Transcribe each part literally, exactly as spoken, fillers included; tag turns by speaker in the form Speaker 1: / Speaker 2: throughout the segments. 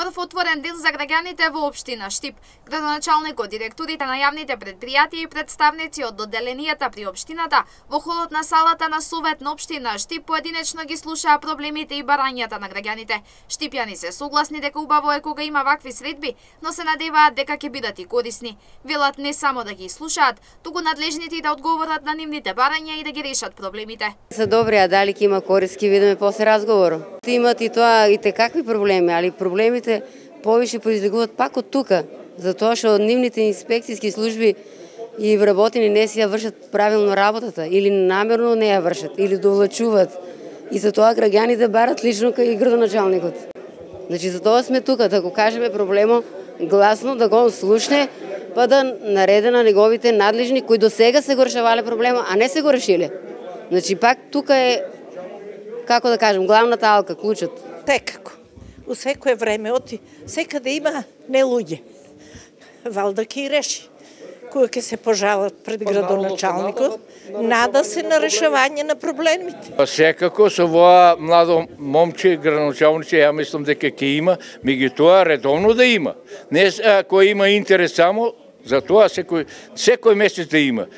Speaker 1: прв отворен ден за граѓаните во општина Штип. Градоначалникот, директорите на јавните предпријатија и представници од одделенијата при општината во холот на салата на Совет на општина Штип поединечно ги слушаа проблемите и барањата на граѓаните. Штипјани се согласни дека убаво е кога има вакви средби, но се надеваат дека ќе бидат и корисни. Велат не само да ги слушаат, туку надлежните да одговорат на нивните барања и да ги решат проблемите.
Speaker 2: Се добри, а дали ќе има кориски, видиме после разговор. Имат и тоа и те какви проблеми, али проблемите повише произлегуваат пак од тука, затоа што нивните инспекцијски служби и вработени не си ја вршат правилно работата, или намерно не ја вршат, или довлачуваат. И затоа граѓаните барат лично кај градоначалникот. Значи, затоа сме тука, да го кажеме проблемо гласно, да го слушне, па да нареде на неговите надлежни, кои до сега се го решавале проблема, а не се го решиле. Значи, пак тука е, како да кажем, главната алка, клучот.
Speaker 3: Секако. У секое време оти, секаде има не луѓе. Валда ќе и реши. Кој ќе се пожалат пред градоначалникот, нада се на решавање на проблемите.
Speaker 4: Секако со ова младо момче градоначалници, ја мислам дека ќе има, меѓутоа редовно да има. Не кој има интерес само, за тоа секој секој месец да има.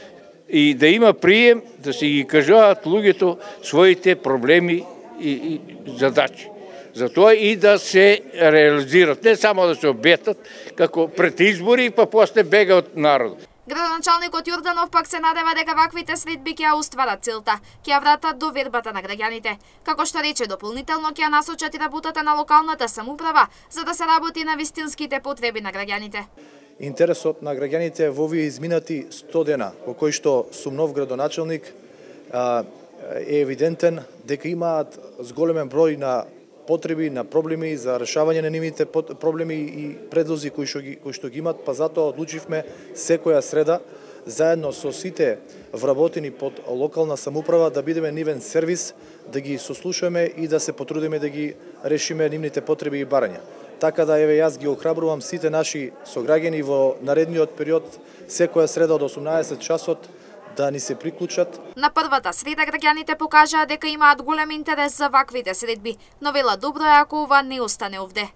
Speaker 4: И да има прием, да се ги кажуваат луѓето своите проблеми и, и задачи. Затоа и да се реализират, не само да се обетат, како пред избори, па после бега од народот.
Speaker 1: Градоначалникот Јорданов пак се надева дека ваквите средби ќе ја остварат целта, ќе ја вратат довербата на граѓаните. Како што рече, дополнително ќе ја насочат и работата на локалната самоуправа, за да се работи на вистинските потреби на граѓаните.
Speaker 5: Интересот на граѓаните во овие изминати сто дена, во кои што сум нов градоначалник, е евидентен дека имаат зголемен број на потреби, на проблеми за решавање на нивните проблеми и предлози кои што ги кои што ги имат, па затоа одлучивме секоја среда заедно со сите вработени под локална самоуправа да бидеме нивен сервис, да ги сослушаме и да се потрудиме да ги решиме нивните потреби и барања. Така да еве јас ги охрабрувам сите наши сограѓани во наредниот период секоја среда од осумнаесет часот да ни се приклучат.
Speaker 1: На првата среда граѓаните покажаа дека имаат голем интерес за ваквите средби, но вела добро е ако ова не остане овде.